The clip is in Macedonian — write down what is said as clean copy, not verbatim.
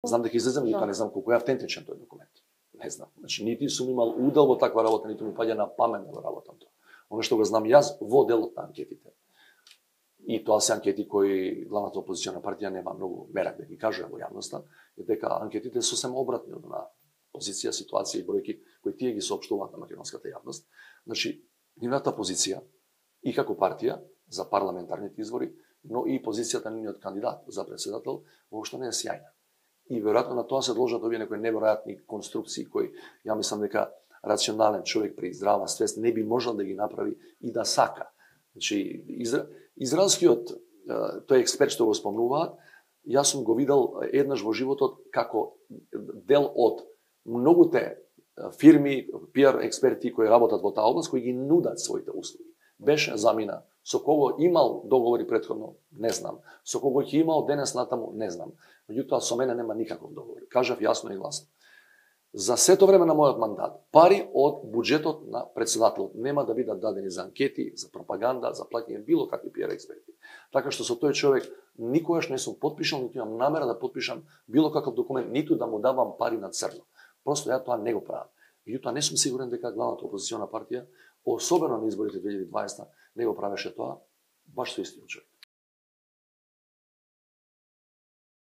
Знам дека излезем, но не знам колку е автентичен тој документ. Не знам. Значи, нити сум имал удел во таква работа, ниту ми паѓа на памет да го работам тоа. Оно што го знам јас во делот на анкетите. И тоа се анкети кои главната опозициона партија нема многу мерак да ги каже во јавноста, е дека анкетите сосем обратни од на позиција, ситуација и бројки кои тие ги соопштуваат на македонската јавност. Значи, нивната позиција и како партија за парламентарните избори, но и позицијата на нивниот кандидат за претседател воопшто не е сјајна. И веројатно на тоа се должат овие некои неверојатни конструкции кои ја мислам дека рационален човек при здрава свест не би можел да ги направи и да сака. Значи, израелскиот тој експерт што го спомнуваат, јас сум го видел еднаш во животот како дел од многуте фирми, PR експерти кои работат во таа област, кои ги нудат своите услуги. Беше замина, со кого имал договори претходно, не знам. Со кого ќе имал денес натаму, не знам. Меѓутоа со мене нема никаков договор. Кажав јасно и гласно. За сето време на мојот мандат, пари од буџетот на претседателот нема да бидат дадени за анкети, за пропаганда, за плаќање било какви PR експерти. Така што со тој човек никогаш не сум потпишал, ниту имам намера да потпишам било каков документ, ниту да му давам пари на црно. Просто ја тоа не го правам. Меѓутоа не сум сигурен дека главната опозициона партија, особено на изборите 2020, не го правеше тоа баш со истиот човек.